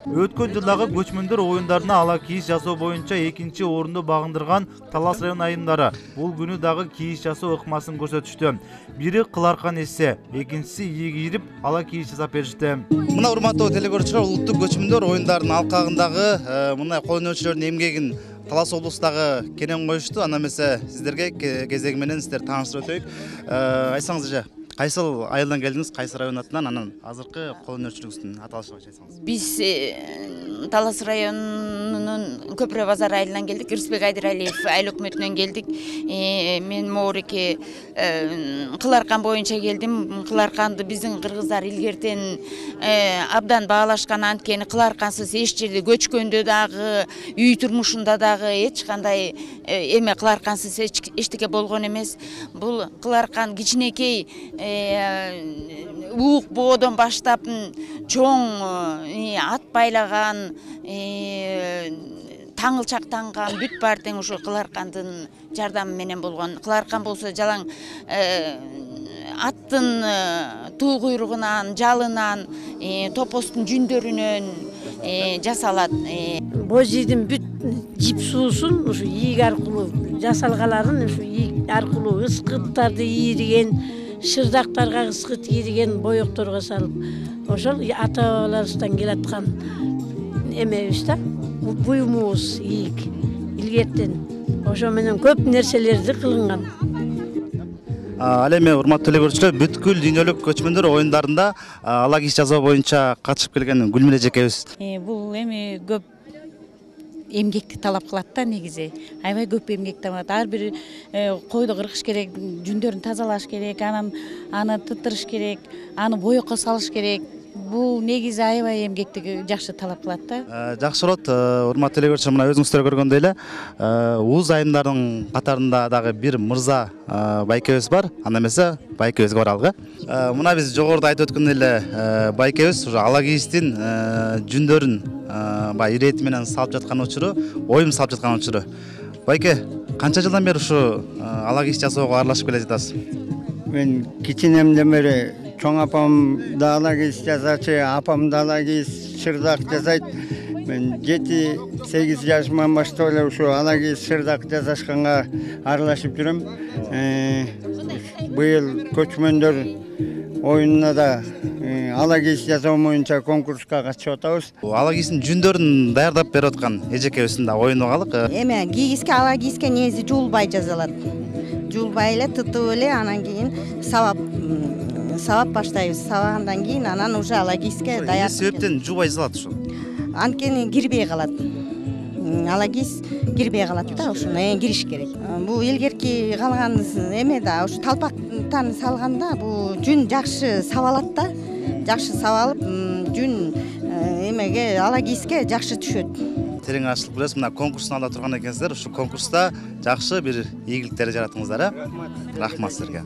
Өткөн жылдагы көчмөндөр оюндарына ала кийиш жасоо боюнча 2-орунду багындырган Талас район айымдары бул күнү дагы кийиш жасоо ыкмасын көрсөтүштү. Бири кыларкан эссе, экинчиси ийиги кирип ала кийиш жасап беришти. Мына урматтуу телекөрүүчүлөр, улуттук көчмөндөр оюндарынын алкагындагы мындай кол өнөрчүлөрдүн эмгегин Талас облустагы кенен коюшту. Анда эмесе сиздерге кезеги менен сиздерди тааныштырып өтөйүк. Айтсаңыз эже, кайсыл айылдан келдиңиз, кайсы район атынан, анан азыркы кол өнөрчүлүгүңүздүн аталышын айтсаңыз. Биз Талас районунун Көпүрө базар айылынан келдик. Рысбек Айдыралиев айыл өкмөтүнөн келдик. Мен моореке Кыларкан боюнча келдим. Кыларканды биздин кыргыздар илгертен абдан баалашкан, анткени кыларкансыз эч жерде көчкөндө дагы, үй турмушунда дагы эч кандай эме кыларкансыз эчтеке болгон эмес. Бул кыларкан кичинекей уук боодон баштап чоң ат байлаган, таңылчактанган бүт баары тең ушу Кыларкандын жардамы менен болгон. Кыларкан болсо жалаң аттын туу куйругунан, жалынан, топостун жүндөрүнөн жасалат. Божийдин бүт жип суусун ушу ийик аркылуу жасалгаларын, ушу ийик аркылуу ыскыттарды ийриген, шырдактарга ыскыт ийриген боекторго салып, ошол ата бабаларыбыздан келаткан эмебиз да, буюмубуз ийик илгертен. Ошо менен көп нерселерди кылынган. Ал эми урматтуу телекөрүүчүлөр, бүткүл дүйнөлүк көчмөндөр оюндарында ала кийиш жасоо боюнча катышып келген Гүлмира эжекебиз. Бул эми көп эмгекти талап кылат да, негизи. Аябай көп эмгек талап. Ар бир койду кыркыш керек, жүндөрүн тазалаш керек, анан аны тыттырыш керек, аны боекко салыш керек. Бул негизи аябай эмгекти жакшы талап кылат да. Жакшы болот. Урматтуу телекөрүүчүлөр, мына өзүңүздөр көргөндөй эле, УУЗ айымдардын катарында дагы бир мырза байкебиз бар. Анда эмесе байкебизге баралык. Мына биз жогоруда айтып өткөн эле байкебиз ушу ала кийиштин жүндөрүн баягы ирети менен салып жаткан учуру, оюн салып жаткан учуру. Байке, канча жылдан бери ушу ала кийиш жасоого аралашып келе жатасыз? Мен кичинемден бери чоң апам да ала кийиш жасачы, апам да ала кийиш шырдак жасайт. Мен 7-8 жашыман баштап эле ушу ала кийиш шырдак жасашканга аралашып жүрөм. Быйыл көчмөндөр оюнуна да ала кийиш жасоо боюнча конкурска катышып атабыз. Ала кийиштин жүндөрүн даярдап берип аткан эжекебиздин да оюну калык. Эме кийгиске, ала кийиске негизи жуулбай жасалат. Жуулбай эле, тытып эле, анан кийин сабап баштайбыз. Сабагандан кийин анан уже ала кийиске даяр. Эмне себептен жуубай жасалат ушу? Анткени кирбей калат. Ала кийис кирбей калат да, ошону кириш керек. Бул илгерки калган эме да, ушу талпактан салганда бул жүн жакшы сабалат да. Жакшы сабалып, жүн эмеге, ала кийиске жакшы түшөт. Терең ачылып келесиз. Мына конкурстун алдында турган экенсиздер. Ушу конкурста жакшы бир ийгиликтерди жараттыңыздар. Рахмат силерге.